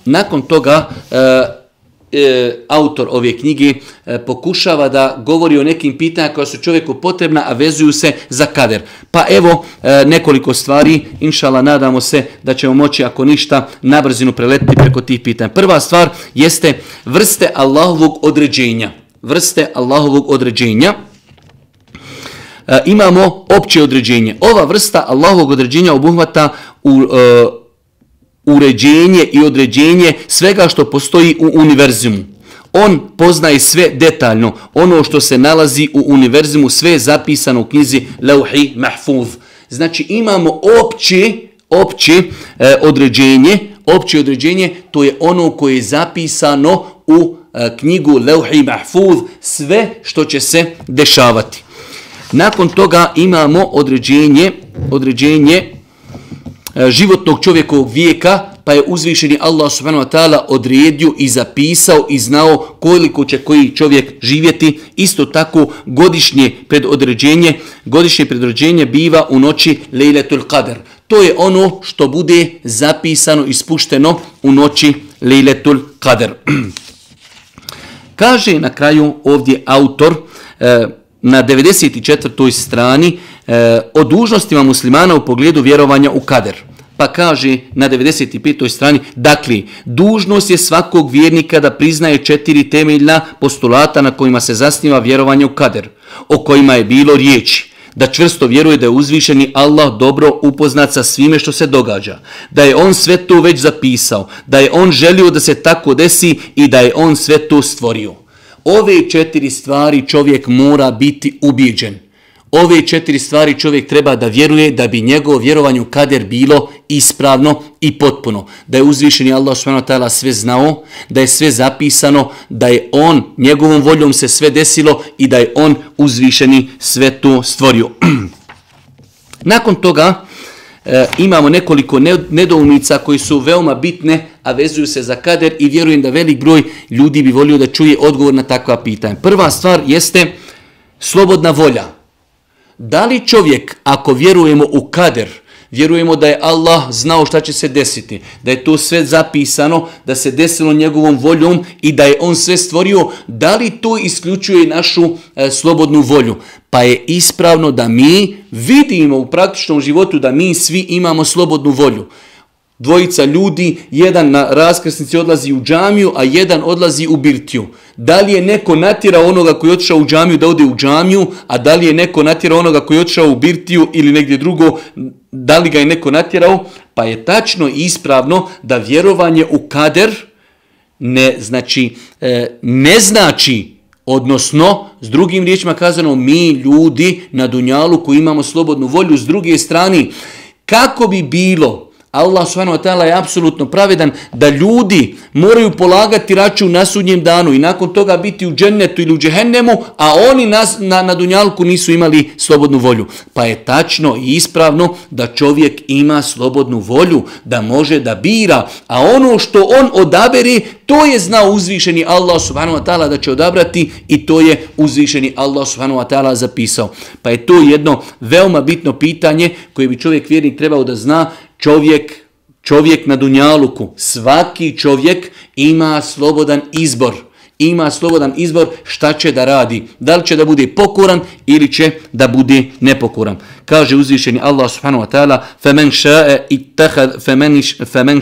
Nakon toga autor ove knjige pokušava da govori o nekim pitanjima koja su čovjeku potrebna, a vezuju se za kader. Pa evo nekoliko stvari, inšallah nadamo se da ćemo moći, ako ništa, na brzinu preletiti preko tih pitanja. Prva stvar jeste vrste Allahovog određenja. Imamo opće određenje. Ova vrsta Allahovog određenja obuhvata uređenje i određenje svega što postoji u univerzimu. On poznaje sve detaljno. Ono što se nalazi u univerzimu, sve je zapisano u knjizi Lauhi Mahfuz. Znači imamo opće određenje, to je ono koje je zapisano u knjigu Lauhi Mahfuz, sve što će se dešavati. Nakon toga imamo određenje životnog čovjekovog vijeka, pa je uzvišeni Allah subhanahu wa ta'ala odredio i zapisao i znao koliko će koji čovjek živjeti. Isto tako godišnje predodređenje biva u noći Lejletul Qadr. To je ono što bude zapisano i spušteno u noći Lejletul Qadr. Kaže na kraju ovdje autor na 94. strani o dužnostima muslimana u pogledu vjerovanja u kader. pa kaže na 95. strani, dakle, dužnost je svakog vjernika da priznaje 4 temeljna postulata na kojima se zasniva vjerovanje u kader, o kojima je bilo riječi. Da čvrsto vjeruje da je uzvišeni Allah dobro upoznat sa svime što se događa, da je on sve to već zapisao, da je on želio da se tako desi i da je on sve to stvorio. Ove 4 stvari čovjek mora biti ubijeđen. Ove 4 stvari čovjek treba da vjeruje da bi njegovo vjerovanje u kader bilo ispravno i potpuno. Da je uzvišeni Allah subhanahu wa ta'ala sve znao, da je sve zapisano, da je on, njegovom voljom se sve desilo i da je on uzvišeni sve to stvorio. Nakon toga imamo nekoliko nedoumica koji su veoma bitne, a vezuju se za kader i vjerujem da velik broj ljudi bi volio da čuje odgovor na takva pitanja. Prva stvar jeste slobodna volja. Da li čovjek, ako vjerujemo u kader, vjerujemo da je Allah znao šta će se desiti, da je to sve zapisano, da se desilo njegovom voljom i da je on sve stvorio, da li to isključuje našu slobodnu volju? Pa je ispravno da mi vidimo u praktičnom životu da mi svi imamo slobodnu volju. Dvojica ljudi, jedan na raskrsnici odlazi u džamiju, a jedan odlazi u birtiju. Da li je neko natjerao onoga koji je otišao u džamiju da ode u džamiju, a da li je neko natjerao onoga koji je otišao u birtiju ili negdje drugo, da li ga je neko natjerao? Pa je tačno i ispravno da vjerovanje u kader ne znači, odnosno, s drugim riječima kazano, mi ljudi na dunjalu koji imamo slobodnu volju, s druge strane, kako bi bilo, Allah subhanahu wa ta'ala je apsolutno pravedan da ljudi moraju polagati račun na sudnjem danu i nakon toga biti u džennetu ili u džehennemu, a oni na dunjalku nisu imali slobodnu volju. Pa je tačno i ispravno da čovjek ima slobodnu volju, da može da bira, a ono što on odabere, to je znao uzvišeni Allah subhanahu wa ta'ala da će odabrati i to je uzvišeni Allah subhanahu wa ta'ala zapisao. Pa je to jedno veoma bitno pitanje koje bi čovjek vjernik trebao da zna. Čovjek na dunjaluku, svaki čovjek ima slobodan izbor. Ima slobodan izbor šta će da radi. Da li će da bude pokoran ili će da bude nepokoran. Kaže uzvišeni Allah subhanahu wa ta'ala فَمَنْ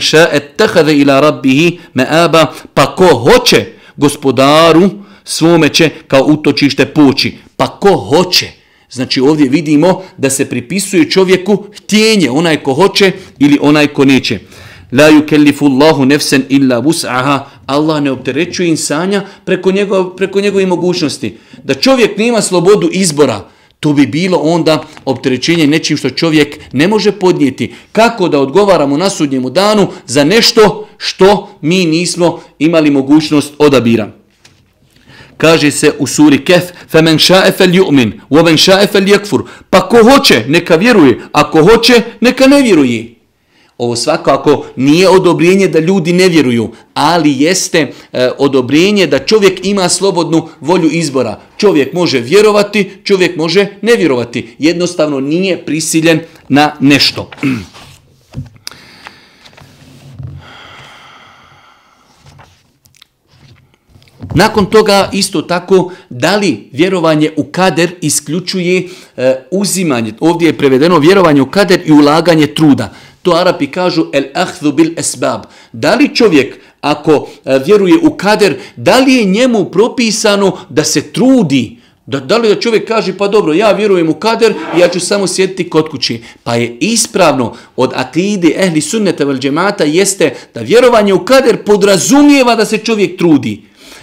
شَاءَ اتَّخَذَ إِلَى رَبِّهِ مَآبًا, pa ko hoće gospodaru svome će kao utočište poći. Pa ko hoće. Znači ovdje vidimo da se pripisuje čovjeku htjenje, onaj ko hoće ili onaj ko neće. La yukellifu Allahu nefsen illa wus'aha. Allah ne opterećuje insanja preko njegove mogućnosti. Da čovjek nema slobodu izbora, to bi bilo onda opterećenje nečim što čovjek ne može podnijeti. Kako da odgovaramo na sudnjemu danu za nešto što mi nismo imali mogućnost odabira. Kaže se u suri Kehf, فَمَنْ شَاءَ فَلْيُؤْمِنْ وَمَنْ شَاءَ فَلْيَكْفُرْ. Pa ko hoće, neka vjeruje, ako hoće, neka ne vjeruje. Ovo svakako nije odobrenje da ljudi ne vjeruju, ali jeste odobrenje da čovjek ima slobodnu volju izbora. Čovjek može vjerovati, čovjek može ne vjerovati. Jednostavno nije prisiljen na nešto. Nakon toga isto tako, da li vjerovanje u kader isključuje uzimanje, ovdje je prevedeno vjerovanje u kader i ulaganje truda. To Arapi kažu el ahdhu bil esbab. Da li čovjek ako vjeruje u kader, da li je njemu propisano da se trudi? Da li da čovjek kaže pa dobro, ja vjerujem u kader i ja ću samo sjediti kod kući. Pa je ispravno od akide ehli sunneta vel džemata jeste da vjerovanje u kader podrazumijeva da se čovjek trudi.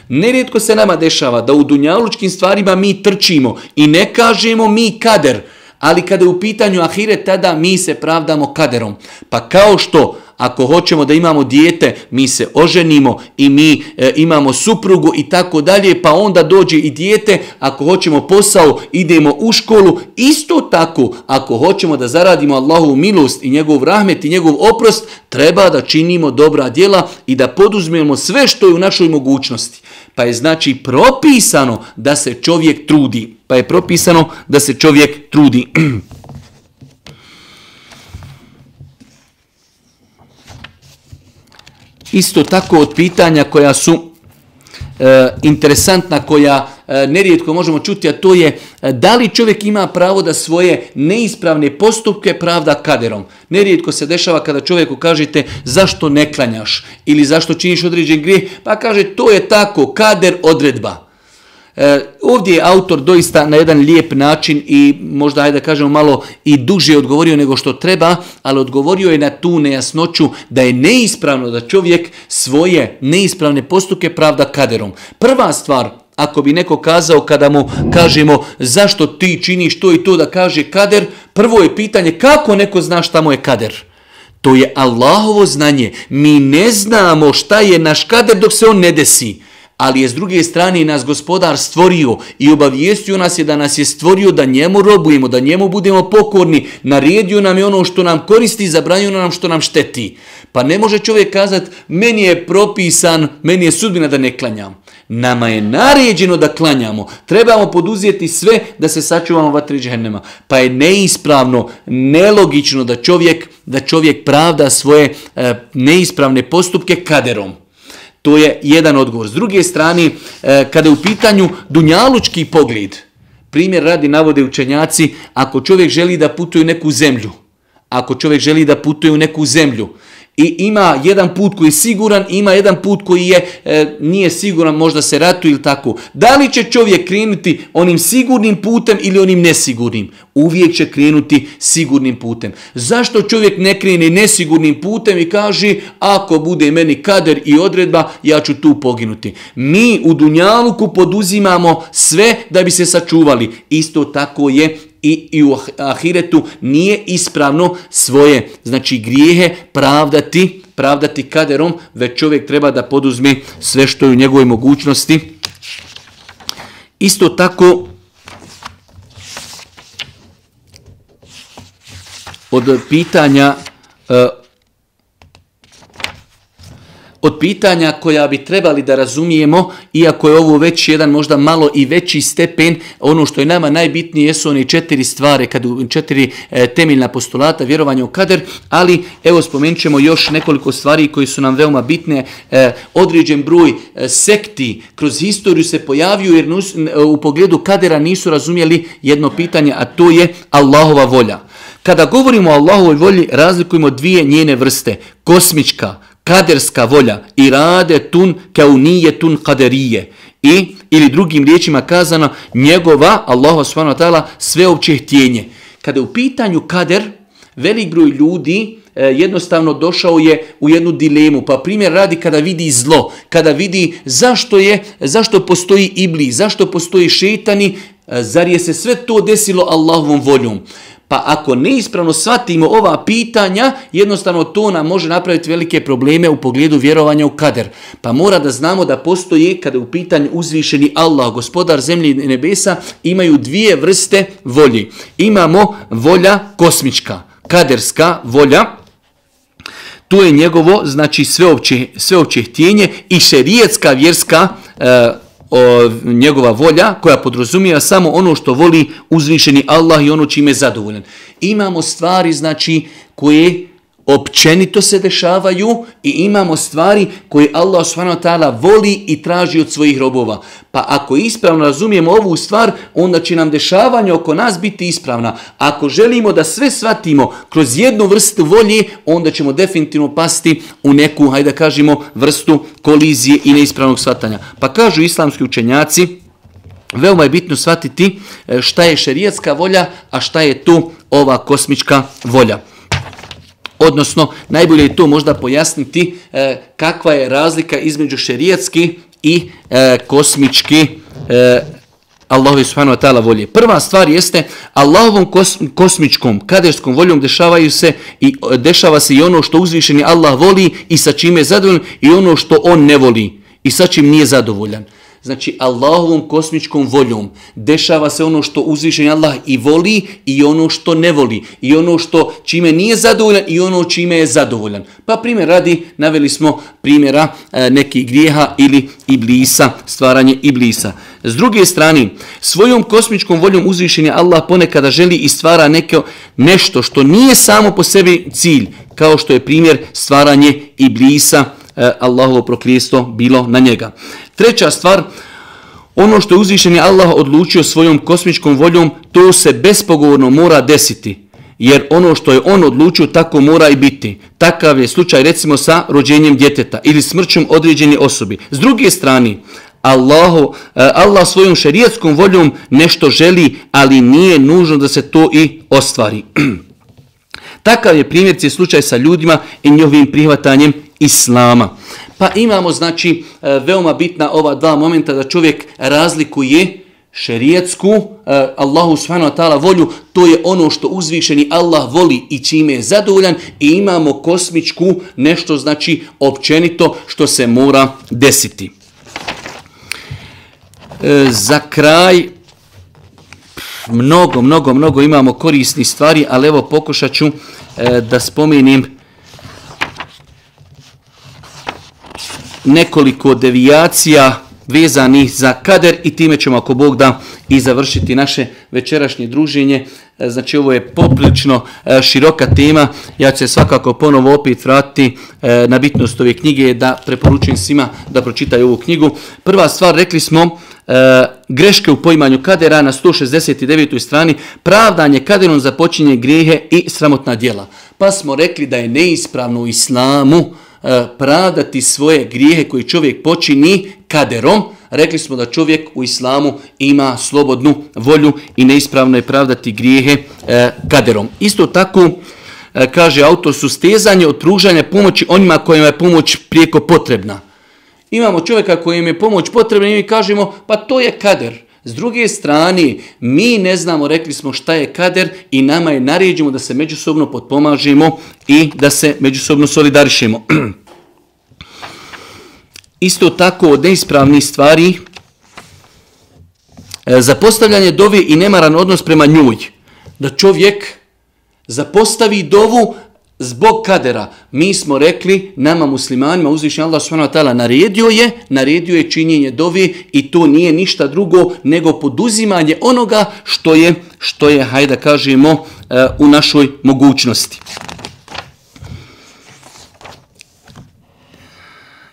Nerijetko se nama dešava da u dunjalučkim stvarima mi trčimo i ne kažemo mi kader, ali kada je u pitanju ahiret, tada mi se pravdamo kaderom. Pa kao što ako hoćemo da imamo dijete, mi se oženimo i mi imamo suprugu i tako dalje, pa onda dođe i dijete, ako hoćemo posao, idemo u školu. Isto tako, ako hoćemo da zaradimo Allahovu milost i njegov rahmet i njegov oprost, treba da činimo dobra djela i da poduzmemo sve što je u našoj mogućnosti. Pa je znači propisano da se čovjek trudi. Isto tako od pitanja koja su interesantna koja nerijetko možemo čuti, a to je da li čovjek ima pravo da svoje neispravne postupke pravda kaderom. Nerijetko se dešava kada čovjeku kažete zašto ne klanjaš ili zašto činiš određen grijeh, pa kaže to je tako, kader, odredba. Ovdje je autor doista na jedan lijep način i možda ajde da kažemo malo i duže odgovorio nego što treba, ali odgovorio je na tu nejasnoću da je neispravno da čovjek svoje neispravne postupke pravda kaderom. Prva stvar, ako bi neko kazao kada mu kažemo zašto ti činiš to i to da kaže kader, prvo je pitanje kako neko zna šta mu je kader. To je Allahovo znanje. Mi ne znamo šta je naš kader dok se on ne desi. Ali je s druge strane nas Gospodar stvorio i obavijestio nas je da nas je stvorio da njemu robujemo, da njemu budemo pokorni, naredio nam je ono što nam koristi, zabranio nam što nam šteti. Pa ne može čovjek kazati meni je propisan, meni je sudbina da ne klanjam. Nama je naređeno da klanjamo. Trebamo poduzeti sve da se sačuvamo vatri džehennema. Pa je neispravno, nelogično da čovjek pravda svoje neispravne postupke kaderom. To je jedan odgovor. S druge strane, kada je u pitanju dunjalučki pogled, primjer radi navode učenjaci, ako čovjek želi da putuje u neku zemlju, i ima jedan put koji je siguran, ima jedan put koji nije siguran, možda se ratuje ili tako. Da li će čovjek krenuti onim sigurnim putem ili onim nesigurnim? Uvijek će krenuti sigurnim putem. Zašto čovjek ne krene nesigurnim putem i kaže ako bude meni kader i odredba, ja ću tu poginuti? Mi u dunjaluku poduzimamo sve da bi se sačuvali. Isto tako je i u ahiretu nije ispravno svoje, znači grijehe pravdati kaderom, već čovjek treba da poduzme sve što je u njegovoj mogućnosti. Isto tako od pitanja koja bi trebali da razumijemo, iako je ovo već jedan možda malo i veći stepen, ono što je nama najbitnije jesu one 4 stvari, 4 temeljna postulata vjerovanja u kader, ali evo spomenut ćemo još nekoliko stvari koji su nam veoma bitne. Određen broj sekti kroz historiju se pojavio jer u pogledu kadera nisu razumjeli jedno pitanje, a to je Allahova volja. Kada govorimo o Allahovoj volji, razlikujemo dvije njene vrste, kosmička, kaderska volja, iradetun kaunijetun kaderije, ili drugim riječima kazano, njegova, Allahova subhanahu wa ta'ala, sveopće htjenje. Kada je u pitanju kader, velik broj ljudi jednostavno došao je u jednu dilemu. Pa primjer radi kada vidi zlo, kada vidi zašto postoji iblis, zašto postoji šejtani, zar je se sve to desilo Allahovom voljom? Pa ako neispravno shvatimo ova pitanja, jednostavno to nam može napraviti velike probleme u pogledu vjerovanja u kader. Pa mora da znamo da postoji, kada je u pitanju uzvišeni Allah, gospodar zemlje i nebesa, imaju dvije vrste volje. Imamo volja kosmička, kaderska volja, to je njegovo, znači sveopće htjenje, i šerijetska vjerska njegova volja koja podrazumijeva samo ono što voli uzvišeni Allah i ono čime je zadovoljan. Imamo stvari znači koje općenito se dešavaju i imamo stvari koje Allah subhanahu wa ta'ala voli i traži od svojih robova. Pa ako ispravno razumijemo ovu stvar, onda će nam dešavanje oko nas biti ispravna. Ako želimo da sve shvatimo kroz jednu vrstu volje, onda ćemo definitivno pasti u neku, hajde da kažemo, vrstu kolizije i neispravnog shvatanja. Pa kažu islamski učenjaci, veoma je bitno shvatiti šta je šerijatska volja, a šta je to ova kosmička volja. Odnosno, najbolje je to možda pojasniti kakva je razlika između šerijatske i kosmičke Allahove subhanahu wa ta'ala volje. Prva stvar jeste Allahovom kosmičkom, kaderskom voljom dešava se i ono što uzvišeni Allah voli i sa čime je zadovoljan, i ono što on ne voli i sa čim nije zadovoljan. Znači, Allahovom kosmičkom voljom dešava se ono što uzvišeni Allah i voli i ono što ne voli. I ono što čime nije zadovoljan i ono čime je zadovoljan. Pa primjer radi, naveli smo primjera nekih grijeha ili iblisa, stvaranje iblisa. S druge strane, svojom kosmičkom voljom uzvišeni Allah ponekada želi i stvara nešto što nije samo po sebi cilj, kao što je primjer stvaranje iblisa Allahovo prokletstvo bilo na njega. Treća stvar, ono što je uzvišeni Allah odlučio svojom kosmičkom voljom, to se bespogovorno mora desiti. Jer ono što je on odlučio, tako mora i biti. Takav je slučaj recimo sa rođenjem djeteta ili smrćom određene osobe. S druge strane, Allah svojom šerijetskom voljom nešto želi, ali nije nužno da se to i ostvari. Takav je primjer slučaj sa ljudima i njihovim prihvatanjem islama. Pa imamo znači veoma bitna ova dva momenta da čovjek razlikuje šerijetsku, Allahu subhanahu wa ta'ala volju, to je ono što uzvišeni Allah voli i čime je zadovoljan, i imamo kosmičku, nešto znači općenito što se mora desiti. Za kraj, mnogo imamo korisnih stvari, ali evo pokušat ću da spomenem nekoliko devijacija vezanih za kader i time ćemo, ako Bog da, i završiti naše večerašnje druženje. Znači ovo je poprilično široka tema, ja ću se svakako ponovo opet vratiti na bitnost ove knjige, da preporučujem svima da pročitaju ovu knjigu. Prva stvar, rekli smo, greške u poimanju kadera na 169. strani, pravdanje kaderom za počinjenje grijehe i sramotna djela. Pa smo rekli da je neispravno u islamu pravdati svoje grijehe koji čovjek počini kaderom. Rekli smo da čovjek u islamu ima slobodnu volju i neispravno je pravdati grijehe kaderom. Isto tako, kaže autor, sustezanje od pružanja pomoći onima kojima je pomoć prijeko potrebna. Imamo čovjeka kojem je pomoć potrebna i mi kažemo pa to je kader. S druge strane, mi ne znamo, rekli smo, šta je kader i nama je naređeno da se međusobno potpomažemo i da se međusobno solidarišemo. Isto tako od neispravnih stvari, zapostavljanje dove i nemaran odnos prema njoj. Da čovjek zapostavi dovu zbog kadera. Mi smo rekli, nama muslimanima, uzvišeni Allah subhanahu wa ta'ala naredio je činjenje dove i to nije ništa drugo nego poduzimanje onoga što je, hajde da kažemo, u našoj mogućnosti.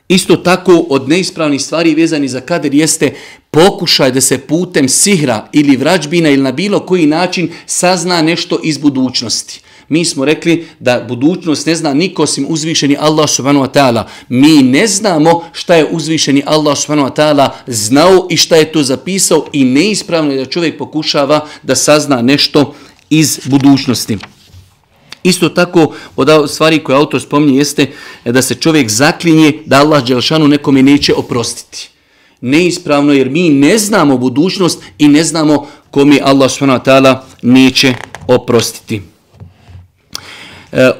Isto tako od neispravnih stvari vezani za kader jeste pokušaj da se putem sihra ili vrađbina ili na bilo koji način sazna nešto iz budućnosti. Mi smo rekli da budućnost ne zna niko osim uzvišeni Allah subhanahu wa ta'ala. Mi ne znamo šta je uzvišeni Allah subhanahu wa ta'ala znao i šta je to zapisao i neispravno je da čovjek pokušava da sazna nešto iz budućnosti. Isto tako od stvari koje autor spominje jeste da se čovjek zaklinje da Allah dželešanu nekome neće oprostiti. Neispravno jer mi ne znamo budućnost i ne znamo kome Allah subhanahu wa ta'ala neće oprostiti.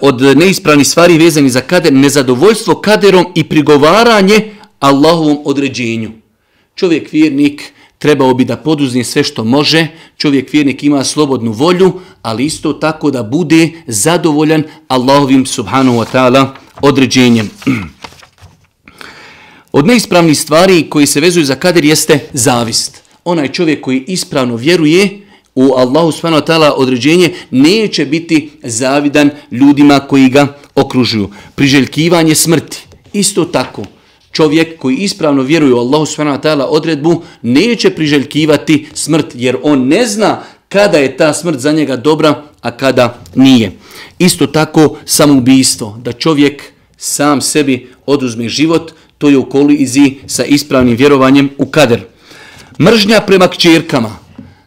Od neispravnih stvari vezani za kader, nezadovoljstvo kaderom i prigovaranje Allahovom određenju. Čovjek vjernik trebao bi da poduzme sve što može, čovjek vjernik ima slobodnu volju, ali isto tako da bude zadovoljan Allahovim subhanahu wa ta'ala određenjem. Od neispravnih stvari koji se vezuju za kader jeste zavist. Onaj čovjek koji ispravno vjeruje u Allahu subhanahu wa ta'ala određenje neće biti zavidan ljudima koji ga okružuju. Priželjkivanje smrti. Isto tako, čovjek koji ispravno vjeruje u Allahu subhanahu wa ta'ala odredbu neće priželjkivati smrt jer on ne zna kada je ta smrt za njega dobra, a kada nije. Isto tako samoubistvo, da čovjek sam sebi oduzme život, to je u koliziji sa ispravnim vjerovanjem u kader. Mržnja prema kćerkama.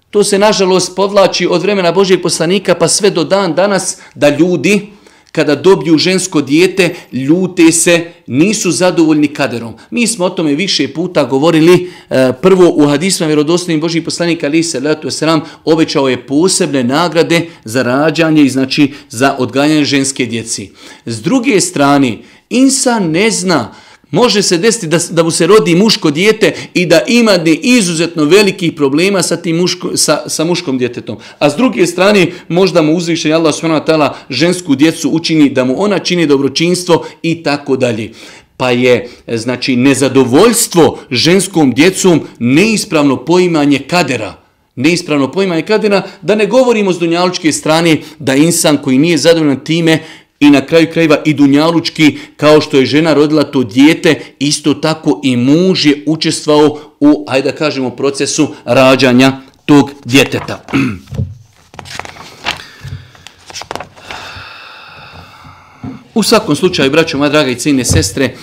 To se nažalost podvlači od vremena Božjeg poslanika pa sve do dan danas da ljudi kada dobiju žensko dijete ljute se, nisu zadovoljni kaderom. Mi smo o tome više puta govorili. Prvo u hadisma vjerodostojnim Božjih poslanika alejhi selatu vesselam obećao je posebne nagrade za rađanje i znači za odgajanje ženske djeci. S druge strane, insan ne zna. Može se desiti da mu se rodi muško dijete i da ima izuzetno velikih problema sa muškom djetetom. A s druge strane, možda mu uzvišeni Allah subhanahu wa ta'ala žensku djecu učini da mu ona čini dobročinstvo i tako dalje. Pa je znači nezadovoljstvo ženskom djecom neispravno poimanje kadera. Neispravno poimanje kadera, da ne govorimo s dunjalučke strane da insan koji nije zadovoljan time i na kraju krajeva i dunjalučki, kao što je žena rodila to dijete, isto tako i muž je učestvovao u, hajde da kažemo, procesu rađanja tog djeteta. U svakom slučaju, braćo, moja draga i cijene sestre,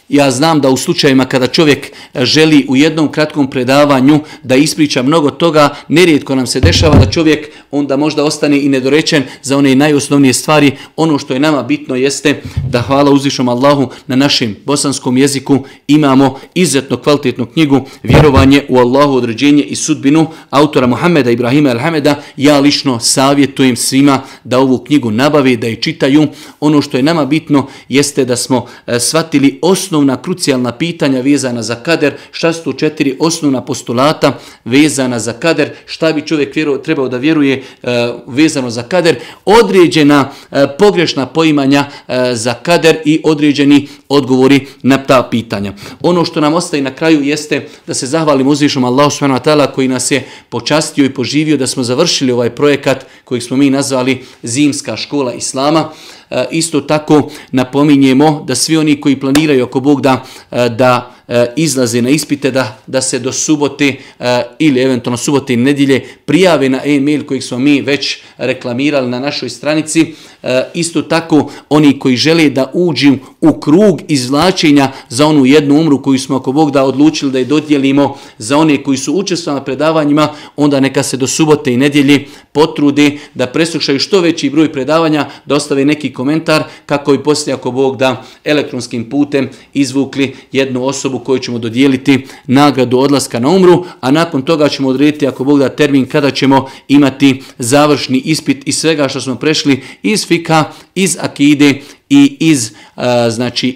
ja znam da u slučajima kada čovjek želi u jednom kratkom predavanju da ispriča mnogo toga, nerijetko nam se dešava da čovjek onda možda ostane i nedorečen za one najosnovnije stvari. Ono što je nama bitno jeste da, hvala uzvišnom Allahu, na našem bosanskom jeziku imamo izuzetno kvalitetnu knjigu Vjerovanje u Allahu, određenje i sudbinu autora Muhameda Ibrahima el-Hameda. Ja lično savjetujem svima da ovu knjigu nabave, da je čitaju. Ono što je nama bitno jeste da smo shvatili osnovna krucijalna pitanja vezana za kader, šta su to 4 osnovna postulata vezana za kader, šta bi čovjek trebao da vjeruje vezano za kader, određena pogrešna poimanja za kader i određeni odgovori na ta pitanja. Ono što nam ostaje na kraju jeste da se zahvalimo uzvišnom Allahu subhanahu wa ta'ala koji nas je počastio i poživio da smo završili ovaj projekat kojeg smo mi nazvali Zimska škola Islama. Isto tako napominjemo da svi oni koji planiraju ako Bog da izlaze na ispite, da se do subote ili eventualno subote i nedjelje prijave na e-mail kojeg smo mi već reklamirali na našoj stranici. Isto tako oni koji žele da uđu u krug izvlačenja za onu jednu umru koju smo ako Bog da odlučili da je dodijelimo za one koji su učestvovali na predavanjima, onda neka se do subote i nedjelje potrude da preslušaju što veći broj predavanja, da ostave neki komentar kako bi poslije ako Bog da elektronskim putem izvukli jednu osobu koju ćemo dodijeliti nagradu odlaska na umru, a nakon toga ćemo odrediti ako Bog da termin kada ćemo imati završni ispit iz svega što smo prešli iz fika, iz akide i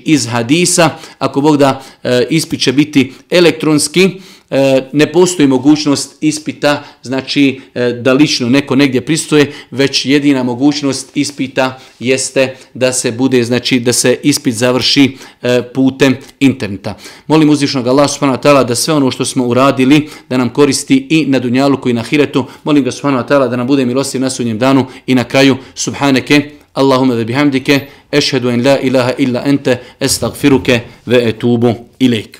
iz hadisa. Ako Bog da ispit će biti elektronski, ne postoji mogućnost ispita, znači da lično neko negdje pristoje, već jedina mogućnost ispita jeste da se bude, znači da se ispit završi putem interneta. Molim uzvišnog Allaha subhanahu wa ta'ala da sve ono što smo uradili da nam koristi i na dunjaluku i na ahiretu. Molim ga subhanahu wa ta'ala da nam bude milostiv na sudnjem danu i na kraju subhaneke Allahumma ve bihamdike ešhedu en la ilaha illa ente estagfiruke ve etubu ilejk.